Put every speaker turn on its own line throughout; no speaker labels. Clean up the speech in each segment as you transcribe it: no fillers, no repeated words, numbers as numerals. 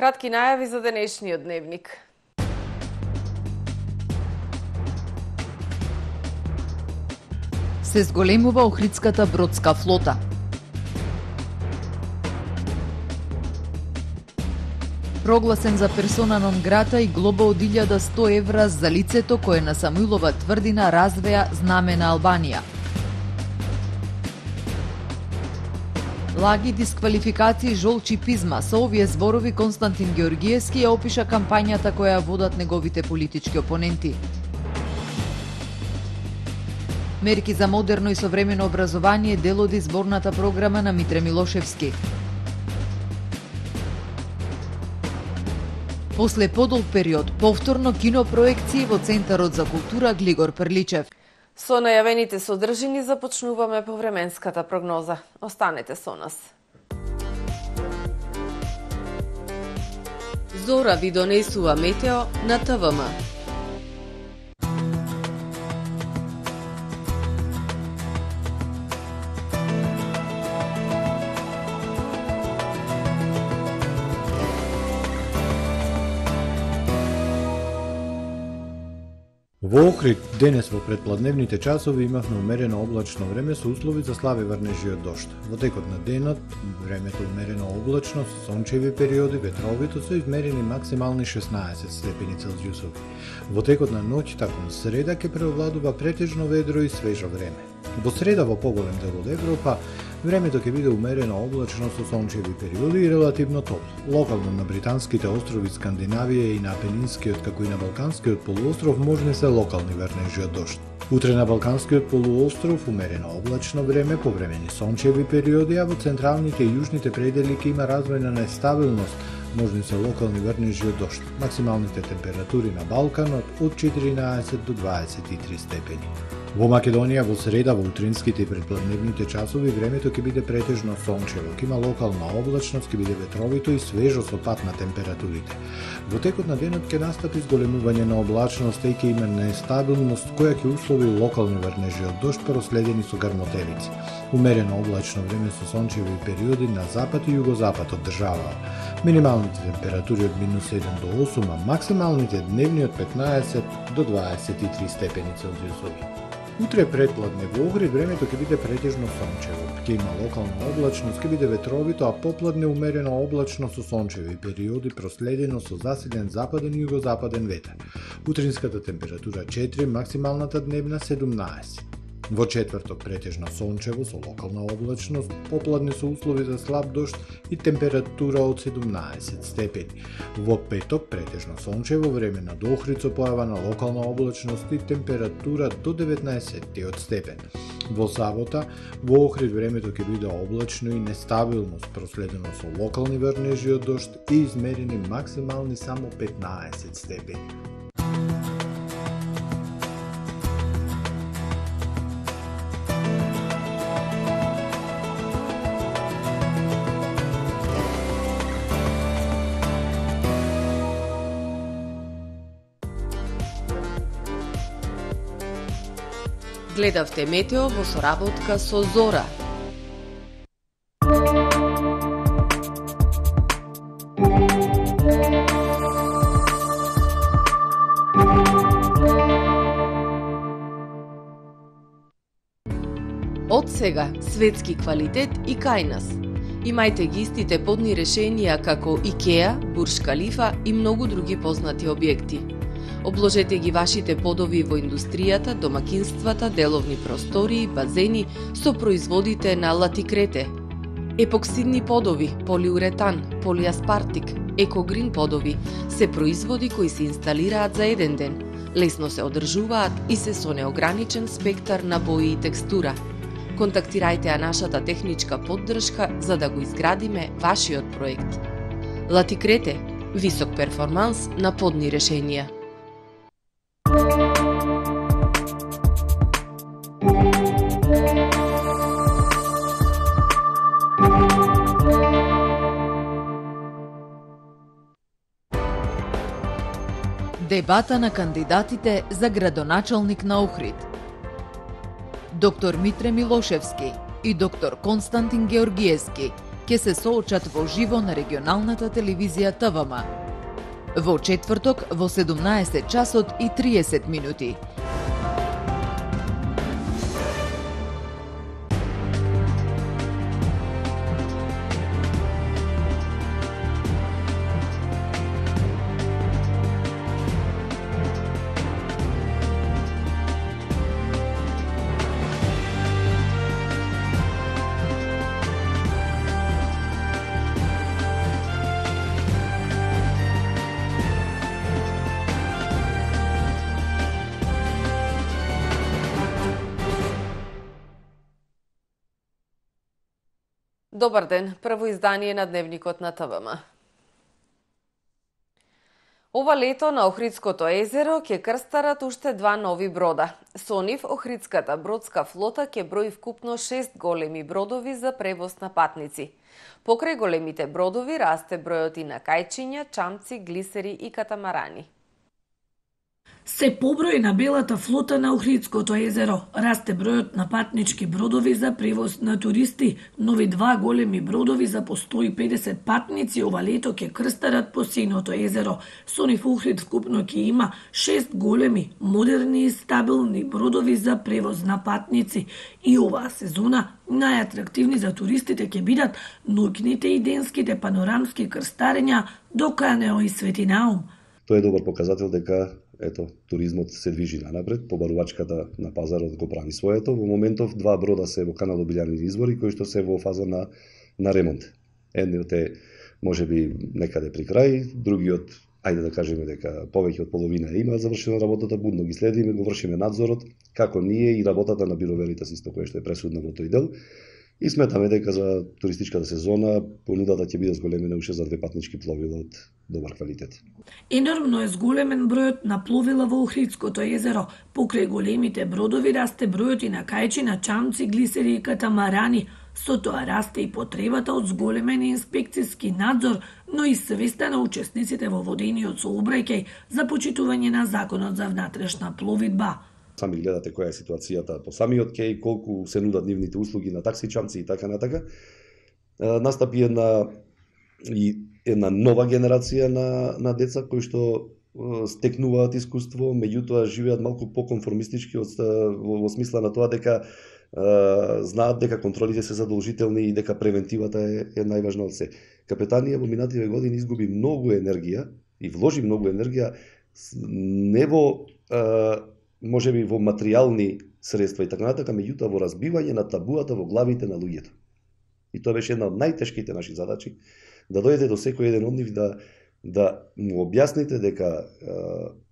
кратки најави за денешниот дневник.
Се зголемува Охридската бродска флота. Прогласен за персона нон грата и глоба од 1100 евра за лицето кое на Самуилова тврдина развеа знаме на Албанија. Лаги, дисквалификации, жолчи пизма. Со овие зборови Константин Георгиевски ја опиша кампањата која водат неговите политички опоненти. Мерки за модерно и современо образование дел од изборната програма на Митре Милошевски. После подолг период, повторно кинопроекции во Центарот за култура Глигор Прличев.
Со најавените содржини започнуваме повременската прогноза. Останете со нас. Зора ви донесува метео на ТВМ.
Во Охрид денес во предпладневните часови имавме умерено облачно време со услови за слаби врнежи од дожд. Во текот на денот времето умерено облачно со сончеви периоди, ветровито со измерени максимални 16 степени Целзиусови. Во текот на ноќта кон среда ќе преовладува претежно ведро и свежо време. Во среда во поголем дел од Европа времето ќе биде умерено облачно со сончеви периоди и релативно топло. Локално на британските острови Скандинавија и на Апенинскиот како и на Балканскиот полуостров можни се локални врнежи од дожд. Утре на Балканскиот полуостров умерено облачно време, повремени сончеви периоди, а во централните и јужните предели ќе има развој на нестабилност, можни се локални врнежи од дожд. Максималните температури на Балканот од 14 до 23 степени. Во Македонија во среда во утринските и предпладневните часови времето ќе биде претежно сончево, ќе има локална облачност, ќе биде ветровито и свежо со пад на температурите. Во текот на денот ќе настапи зголемување на облачност и ќе има нестабилност која ќе услови локални врнежи од дожд проследени со грмотевици. Умерено облачно време со сончеви периоди на запад и југозапад од државава. Минималните температури од -7 до 8, а максималните дневни од 15 до 23 степени Целзиусови. Утре предпладне во Охрид времето ќе биде претежно сончево. Ќе има локална облачност, ќе биде ветровито, а попладне умерено облачно со сончеви периоди проследено со засилен западен и југозападен ветер. Утринската температура 4, максималната дневна 17. Во четврток претежно сончево со локална облачност, попладне со услови за слаб дожд и температура од 17 степени. Во петок претежно сончево време на Охрид со појава на локална облачност и температура до 19 степен. Во сабота во Охрид времето ќе биде облачно и нестабилно, проследено со локални врнежи од дожд и измерени максимални само 15 степени.
Гледавте метео во соработка со Зора. Од сега светски квалитет и кај нас. Имајте ги истите подни решенија како Икеа, Бурж Калифа и многу други познати објекти. Обложете ги вашите подови во индустријата, домакинствата, деловни простории, базени со производите на Латикрете. Епоксидни подови, полиуретан, полиаспартик, екогрин подови се производи кои се инсталираат за еден ден, лесно се одржуваат и се со неограничен спектар на бои и текстура. Контактирајте ја нашата техничка поддршка за да го изградиме вашиот проект. Латикрете, висок перформанс на подни решенија.
Дебата на кандидатите за градоначалник на Охрид. Доктор Митре Милошевски и доктор Константин Георгиевски ќе се соочат во живо на регионалната телевизија ТВМ. Во четврток во 17 часот и 30 минути.
Добар ден, прво издание на Дневникот на ТВМ. Ова лето на Охридското езеро ќе крстарат уште 2 нови брода. Со нив Охридската бродска флота ќе брои вкупно 6 големи бродови за превоз на патници. Покрај големите бродови расте бројот и на кајчиња, чамци, глисери и катамарани.
Се поброи на белата флота на Охридското езеро. Расте бројот на патнички бродови за превоз на туристи. Нови 2 големи бродови за по 150 патници ова лето ќе крстарат по синото езеро. Со нив Охрид вкупно ќе има 6 големи, модерни и стабилни бродови за превоз на патници. И оваа сезона најатрактивни за туристите ќе бидат ноќните и денските панорамски крстарења до Канео и Свети Наум.
Тоа е добар показател дека туризмот се движи нанапред, побарувачката на пазарот го прави своето. Во моментов 2 брода се во канал Обилјани извори кои што се во фаза на ремонт. Едниот е можеби некаде при крај, другиот ајде да кажеме дека повеќе од половина има завршена работата, будно ги следиме, го вршиме надзорот, како ние и работата на бироверите исто која што е пресудна во тој дел. И сметаме дека за туристичката сезона понудата ќе биде зголемена уште за 2 патнички пловила од добар квалитет.
Енормно е зголемен бројот на пловила во Охридското езеро. Покрај големите бродови расте бројот и на кајчина, чамци, глисери и катамарани. Со тоа расте и потребата од зголемен инспекцијски надзор, но и свеста на учесниците во водениот сообраќај за почитување на законот за внатрешна пловидба.
Сами гледате која е ситуацијата по самиот кеј, колку се нудат нивните услуги на такси чамци и така натака. Настапи една нова генерација на деца кои што стекнуваат искуство, меѓутоа живеат малку поконформистички во смисла на тоа дека знаат дека контролите се задолжителни и дека превентивата е најважна од се. Капетанија во минативе години изгуби многу енергија и вложи многу енергија не во можеби во материјални средства и така натака, меѓутоа во разбивање на табуата во главите на луѓето. И тоа беше една од најтешките наши задачи, да дојде до секој еден од нив да му објасните дека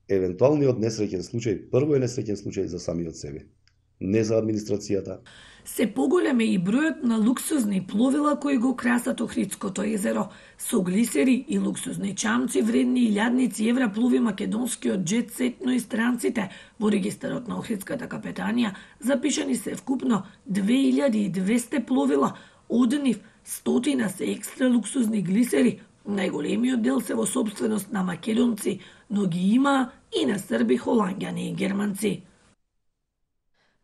евентуалниот несреќен случај прво е несреќен случај за самиот себе, не за администрацијата.
Се поголем е и бројот на луксузни пловила кои го красат Охридското езеро. Со глисери и луксузни чамци вредни 1000 евра плови македонскиот джет сет, но и странците. Во регистарот на Охридската капетанија запишани се вкупно 2200 пловила, од нив 100 се екстра луксузни глисери. Најголемиот дел се во сопственост на македонци, но ги има и на срби, холанѓани и германци.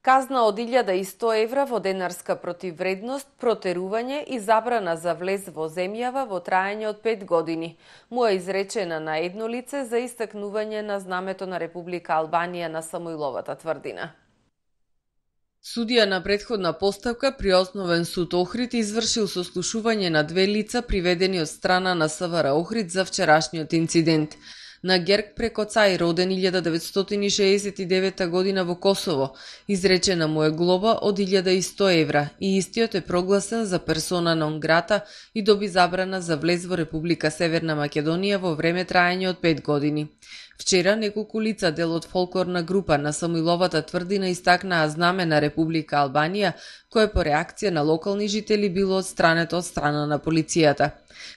Казна од 1100 евра во денарска противвредност, протерување и забрана за влез во земјава во траење од 5 години. Му е изречена на едно лице за истакнување на знамето на Република Албанија на Самуиловата тврдина. Судија на претходна поставка при Основен суд Охрид извршил сослушување на 2 лица приведени од страна на СВР Охрид за вчерашниот инцидент. На Герк Прекоцај, роден 1969 година во Косово, изречена му е глоба од 1100 евра и истиот е прогласен за персона нон грата и доби забрана за влез во Република Северна Македонија во време траење од 5 години. Вчера неколку лица дел од фолклорна група на Самуиловата тврдина истакнаа знаме на Република Албанија, кое по реакција на локални жители било отстрането од страна на полицијата.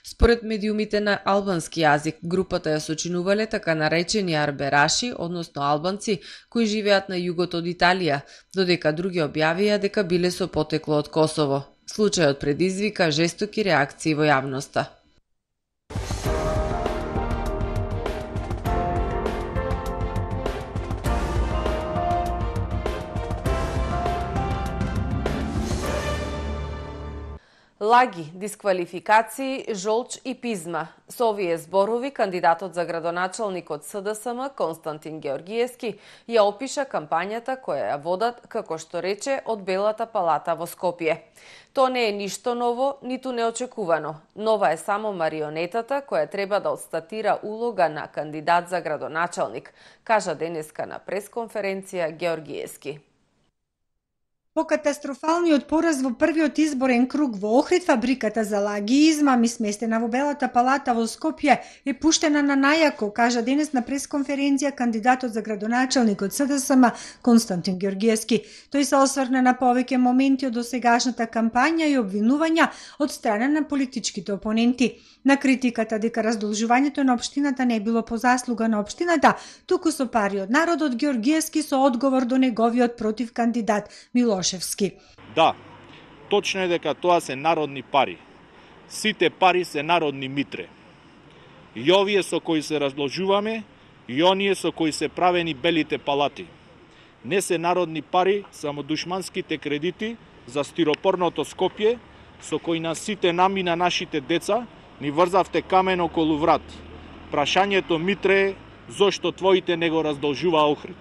Според медиумите на албански јазик, групата ја сочинувале така наречени арбераши, односно албанци, кои живеат на југот од Италија, додека други објавија дека биле со потекло од Косово. Случајот предизвика жестоки реакции во јавноста. Лаги, дисквалификации, жолч и пизма. Со овие зборови, кандидатот за градоначалник од СДСМ, Константин Георгиевски, ја опиша кампањата која ја водат, како што рече, од Белата палата во Скопје. То не е ништо ново, ниту неочекувано. Нова е само марионетата која треба да отстатира улога на кандидат за градоначалник, кажа денеска на пресконференција Георгиевски.
По катастрофалниот пораз во првиот изборен круг во Охрид, фабриката за лаги и измами сместена во Белата палата во Скопје е пуштена на најако, кажа денес на пресконференција кандидатот за градоначалник од СДСМ Константин Георгиевски. Тој се осврна на повеќе моменти од досегашната кампања и обвинувања од страна на политичките опоненти. На критиката дека раздолжувањето на општината не било по заслуга на општината, туку со пари од народот, Георгиевски со одговор до неговиот против кандидат Милошевски.
Да, точно е дека тоа се народни пари. Сите пари се народни митре. И овие со кои се раздолжуваме, и оние со кои се правени белите палати. Не се народни пари, само душманските кредити за стиропорното Скопје, со кои на сите нами на нашите деца ни врзавте камен околу врат. Прашањето митре е зошто твоите не го раздолжува Охрид.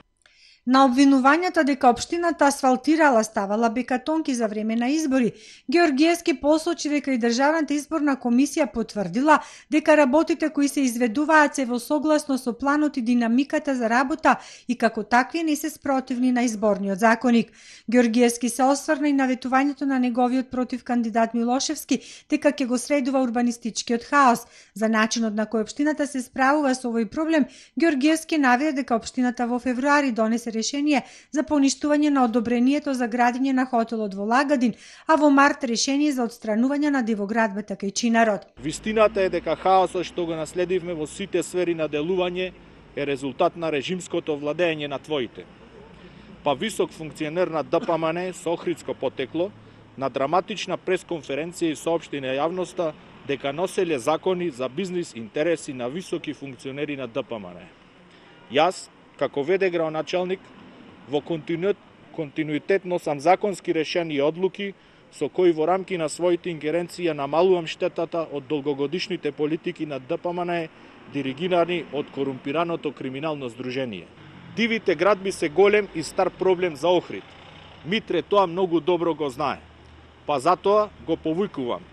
На обвинувањата дека општината асфалтирала, ставала бекатонки за време на избори, Георгиевски посочи дека и Државната изборна комисија потврдила дека работите кои се изведуваат се во согласно со планот и динамиката за работа и како такви не се спротивни на изборниот законник. Георгиевски се осврна и на ветувањето на неговиот против кандидат Милошевски дека ќе го средува урбанистичкиот хаос. За начинот на кој општината се справува со овој проблем, Георгиевски наведе дека општината во февруари донесе решение за поништување на одобрението за градење на хотелот во Лагадин, а во март решение за отстранување на дивоградбата кај Чинарод.
Вистината е дека хаосот што го наследивме во сите сфери на делување е резултат на режимското владење на твоите. Па висок функционер на ДПМН со охридско потекло на драматична пресконференција и соопшти на јавноста дека носеле закони за бизнис интереси на високи функционери на ДПМН. Јас, како веде градоначалник, во континуитет носам законски решени одлуки со кои во рамки на своите ингеренции намалувам штетата од долгогодишните политики на ДПМН диригирани од корумпираното криминално здружение. Дивите градби се голем и стар проблем за Охрид. Митре тоа многу добро го знае. Па затоа го повикувам,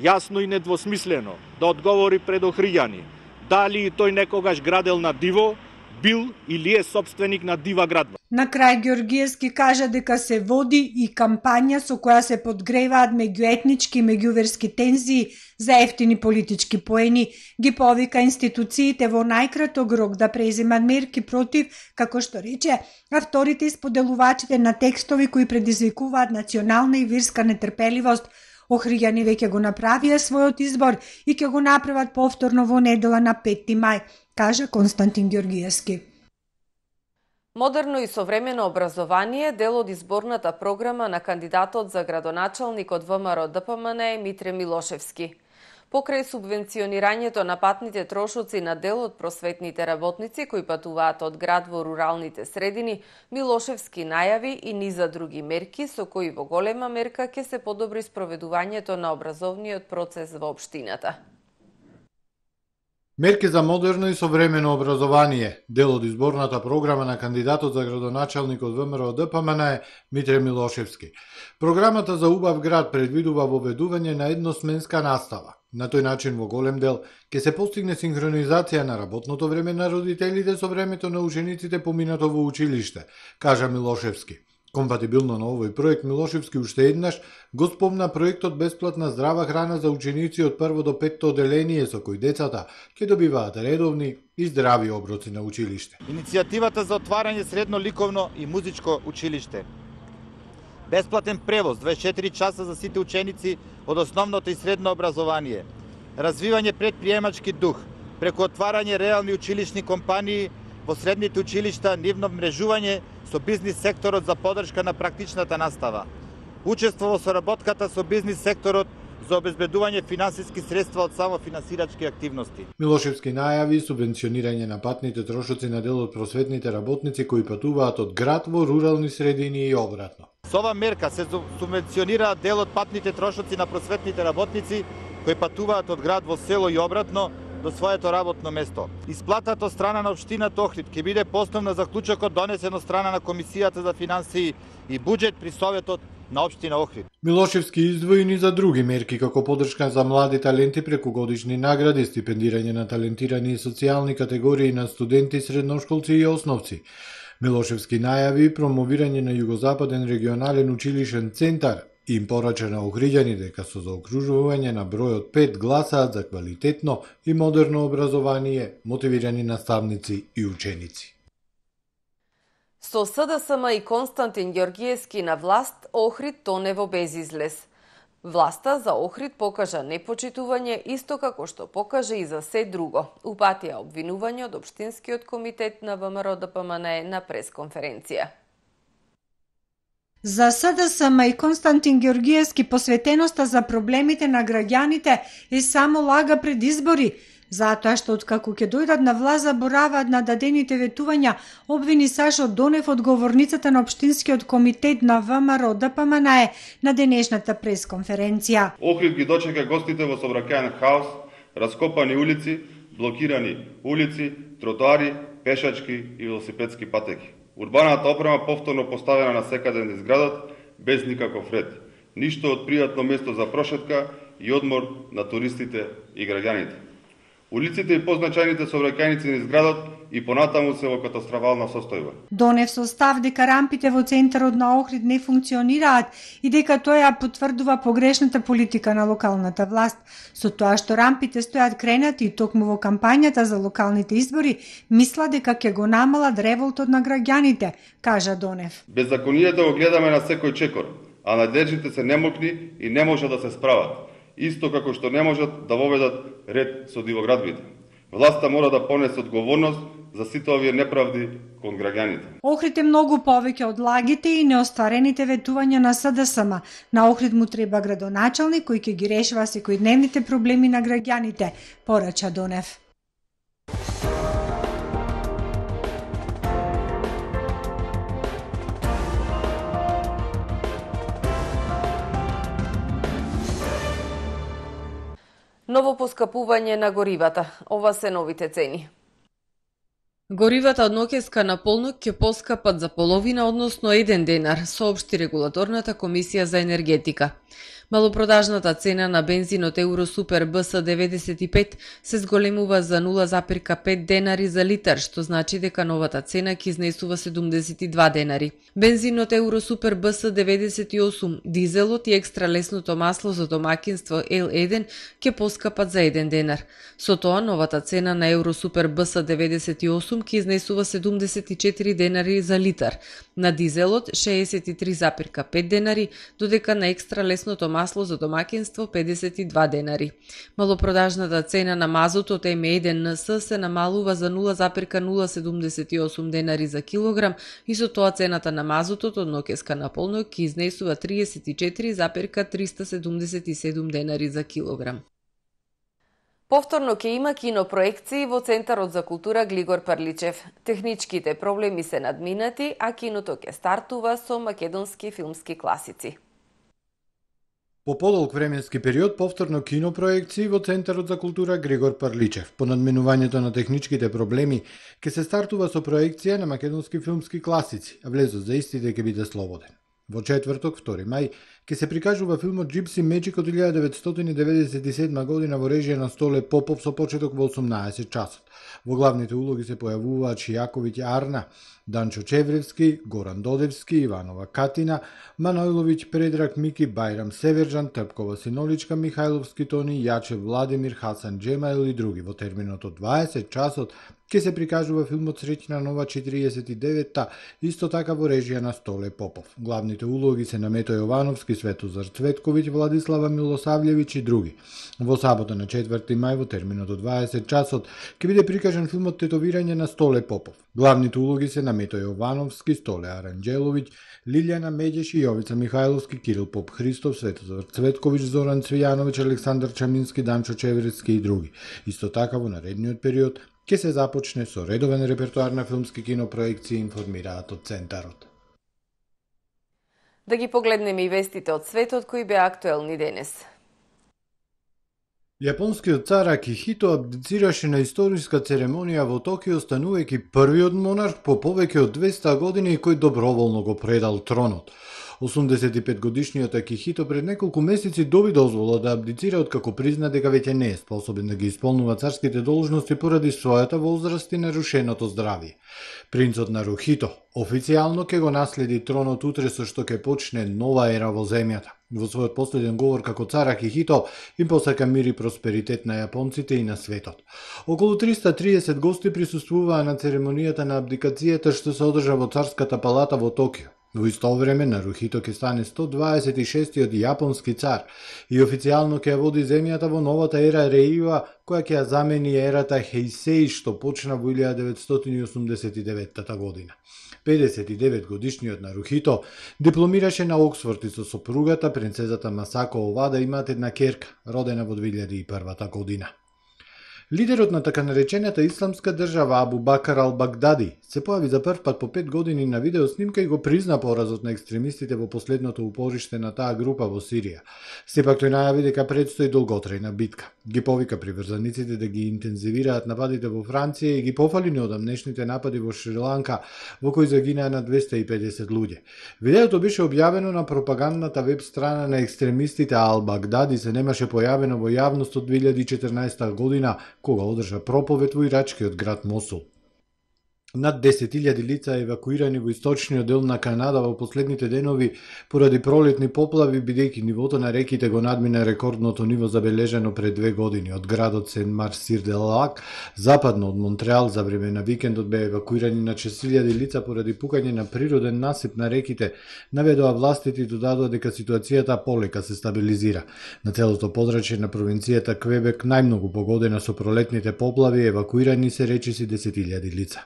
јасно и недвосмислено, да одговори пред охриѓани, дали и тој некогаш градел на диво, бил или е собственик на дива градба.
На крај Георгиевски кажа дека се води и кампања со која се подгреваат меѓуетнички и меѓуверски тензии за ефтини политички поени. Ги повика институциите во најкраток рок да преземат мерки против, како што рече, авторите и споделувачите на текстови кои предизвикуваат национална и вирска нетрпеливост. Охриѓани веќе го направија својот избор и ќе го направат повторно во недела на 5 мај, кажа Константин Георгиевски.
Модерно и современо образование дел од изборната програма на кандидатот за градоначалник од ВМРО ДПМН Митре Милошевски. Покрај субвенционирањето на патните трошоци на дел од просветните работници кои патуваат од град во руралните средини, Милошевски најави и низа други мерки со кои во голема мерка ќе се подобри спроведувањето на образовниот процес во општината.
Мерки за модерно и современо образование, дел од изборната програма на кандидатот за градоначалник од ВМРО ДПМН Митре Милошевски. Програмата за убав град предвидува воведување на едносменска настава. На тој начин во голем дел ќе се постигне синхронизација на работното време на родителите со времето на учениците поминато во училиште, кажа Милошевски. Компатибилно на овој проект, Милошевски уште еднаш го спомна проектот бесплатна здрава храна за ученици од 1 до 5 оделение со кој децата ќе добиваат редовни и здрави оброци на училиште.
Иницијативата за отварање средно ликовно и музичко училиште. Бесплатен превоз 24 часа за сите ученици од основното и средно образование. Развивање предприемачки дух преку отварање реални училишни компании во средните училишта, нивно мрежување со бизнис секторот за поддршка на практичната настава. Учество во соработката со бизнис секторот за обезбедување финансиски средства од самофинансирачки активности.
Милошевски најави субвенционирање на патните трошоци на дел од просветните работници кои патуваат од град во рурални средини и обратно.
Со ова мерка се субвенционира дел од патните трошоци на просветните работници кои патуваат од град во село и обратно до своето работно место. Исплатата од страна на општината Охрид ќе биде по основ на заклучокот донесен од страна на Комисијата за финансии и буџет при Советот на општина Охрид.
Милошевски издвоени за други мерки како поддршка за млади таленти преку годишни награди, стипендирање на талентирани и социјални категории на студенти, средношколци и основци. Милошевски најави промовирање на Југозападен регионален училишен центар и им порача на охриѓани дека со заокружување на бројот 5 гласаат за квалитетно и модерно образование, мотивирани наставници и ученици.
Со СДСМ и Константин Ѓоргиевски на власт, Охрид тоне во безизлез. Власта за Охрид покажа непочитување исто како што покажа и за се друго. Упатија обвинување од Општинскиот комитет на ВМРО-ДПМНЕ на пресконференција.
За СДСМ и Константин Ѓоргиевски посветеноста за проблемите на граѓаните е само лага пред избори, затоа што откако ќе дојдат на власт забораваат на дадените ветувања, обвини Сашо Донев од говорницата на Општинскиот комитет на ВМРО-ДПМНЕ на денешната пресконференција.
Охрид ги дочека гостите во сообраќајен хаос, раскопани улици, блокирани улици, тротоари, пешачки и велосипедски патеки. Урбаната опрема повторно поставена на секаде низ градот, без никаков ред. Ништо од пријатно место за прошетка и одмор на туристите и граѓаните. Улиците и позначајните сообраќајници низ градот и понатаму се во катастрофална состојба.
Донев со став дека рампите во центарот на Охрид не функционираат и дека тоа ја потврдува погрешната политика на локалната власт. Со тоа што рампите стојат кренати и токму во кампањата за локалните избори, мисла дека ќе го намалат револтот на граѓаните, кажа Донев.
Беззаконијата го гледаме на секој чекор, а надлежните се немокни и не можат да се справат. Исто како што не можат да воведат ред со дивоградбите. Власта мора да понесе одговорност за сите овие неправди кон граѓаните.
Охрид е многу повеќе од лагите и неостварените ветувања на СДСМ. На Охрид му треба градоначалник кој ќе ги решава секојдневните проблеми на граѓаните, порача Донев.
Ново поскапување на горивата. Ова се новите цени. Горивата од ноќеска на полнок ќе поскапат за половина, односно 1 денар, соопшти регулаторната комисија за енергетика. Малопродажната цена на бензинот Евросупер БС 95 се зголемува за 0,5 денари за литар, што значи дека новата цена ќе изнесува 72 денари. Бензинот Евросупер БС 98, дизелот и екстра лесното масло за домакинство L1 ќе поскапат за 1 денар. Со тоа новата цена на Евросупер БС 98 ќе изнесува 74 денари за литар, на дизелот 63,5 денари, додека на екстра лесното масло за домакинство 52 денари. Малопродажната цена на мазутот М1НС се намалува за 0,078 денари за килограм и со тоа цената на мазутот од ноќеска на полнок ќе изнесува 34,377 денари за килограм. Повторно ќе има кинопроекции во Центарот за култура Глигор Парличев. Техничките проблеми се надминати, а киното ќе стартува со македонски филмски класици.
По подолг временски период повторно кинопроекции во Центарот за култура Григор Парличев. По надминувањето на техничките проблеми ќе се стартува со проекција на македонски филмски класици, а влезот за истите ќе биде слободен. Во четврток, 2 мај, ќе се прикажува филмот Gypsy Magic од 1997 година во режија на Столе Попов со почеток во 18 часот. Во главните улоги се појавуваат Шијаковиќ Арна, Данчо Чевревски, Горан Додевски, Иванова Катина, Манойловиќ Предраг Мики, Бајрам Северџан, Трпкова Синоличка, Михајловски Тони, Јачев Владимир, Хасан Джемаил и други во терминот од 20 часот ке се прикажува филмот Среќна нова 49-та, исто така во режија на Столе Попов. Главните улоги се на Мето Јовановски, Светозар Цветковиќ, Владислава Милосављевиќ и други. Во сабота на 4 мај во терминот од 20 часот ќе биде прикажан филмот Тетовирање на Столе Попов. Главните улоги се на Мето Јовановски, Столе Аранđеловиќ, Лилјана Медјеш и Јовица Михајловски, Кирил Поп Христов, Светозар Цветковиќ, Зоран Цвијановиќ, Александар Чамински, Данчо Чеврецки и други. Исто така во наредниот период ќе се започне со редовен репертоар на филмски кинопроекции, информираат од Центарот.
Да ги погледнеме и вестите од светот кои беа актуелни денес.
Јапонскиот цар Акихито абдицираше на историска церемонија во Токио, станувајќи првиот монарх по повеќе од 200 години кој доброволно го предал тронот. 85-годишниот Акихито пред неколку месеци доби дозвола да абдицира откако призна дека веќе не е способен да ги исполнува царските должности поради својата возраст и нарушеното здравје. Принцот Нарухито официјално ќе го наследи тронот утре, со што ќе почне нова ера во земјата. Во својот последен говор како цар Акихито им посака мир и просперитет на јапонците и на светот. Околу 330 гости присуствуваа на церемонијата на абдикацијата што се одржа во Царската палата во Токио. Во исто време Нарухито ќе стане 126-тиот јапонски цар и официјално ќе ја води земјата во новата ера Реива, која ќе ја замени ерата Хеисеи што почна во 1989 година. 59-годишниот Нарухито дипломираше на Оксфорд и со сопругата принцезата Масако Овада имаат една керка, родена во 2001 година. Лидерот на така наречената исламска држава Абу Бакар ал-Багдади се појави за прв пат по 5 години на видеоснимка и го призна поразот на екстремистите во последното упориште на таа група во Сирија. Сепак тој најави дека предстои долготрајна битка. Ги повика приврзаниците да ги интензивираат нападите во Франција и ги пофали неодамнешните напади во Шри-Ланка, во кои загинаа на 250 луѓе. Видеото беше објавено на пропагандната веб страна на екстремистите, а ал-Багдади се немаше појавено во јавност од 2014 година, кога одржа проповед во ирачкиот град Мосул. Над 10.000 лица евакуирани во источниот дел на Канада во последните денови поради пролетни поплави, бидејќи нивото на реките го надмина рекордното ниво забележано пред 2 години. Од градот Сен-Мар-Сир-де-Лак, западно од Монтреал, за време на викендот беа евакуирани на 6.000 лица поради пукање на природен насип на реките, наведоа властите и додадоа дека ситуацијата полека се стабилизира. На целото подрачје на провинцијата Квебек, најмногу погодена со пролетните поплави, евакуирани се речиси 10.000 лица.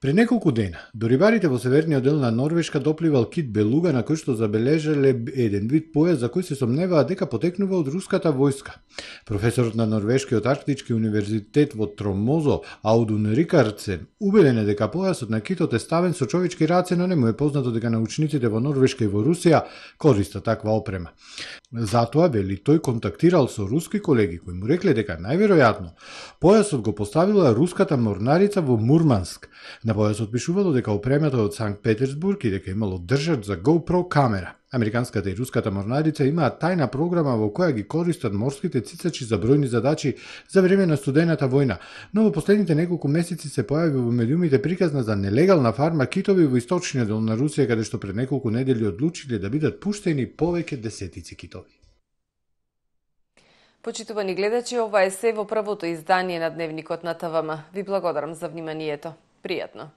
Пред неколку дена, до рибарите во северниот дел на Норвешка допливал кит белуга на кој што забележале еден вид појас за кој се сомневаат дека потекнува од руската војска. Професорот на Норвешкиот арктички универзитет во Тромозо, Аудун Рикардсен, убеден е дека појасот на китот е ставен со човечки раце, но не му е познато дека научниците во Норвешка и во Русија користат таква опрема. Затоа, вели, тој контактирал со руски колеги кои му рекле дека најверојатно појасот го поставила руската морнарица во Мурманск. На појасот пишувало дека опремата од Санкт Петерсбург и дека имало држач за GoPro камера. Американската и руската морнарица имаат тајна програма во која ги користат морските цицачи за бројни задачи за време на студената војна, но во последните неколку месеци се појави во медиумите приказна за нелегална фарма китови во источниот дел на Русија, каде што пред неколку недели одлучиле да бидат пуштени повеќе десетици китови.
Почитувани гледачи, ова е се во првото издание на Дневникот на ТВМ. Ви благодарам за вниманието. Пријатно.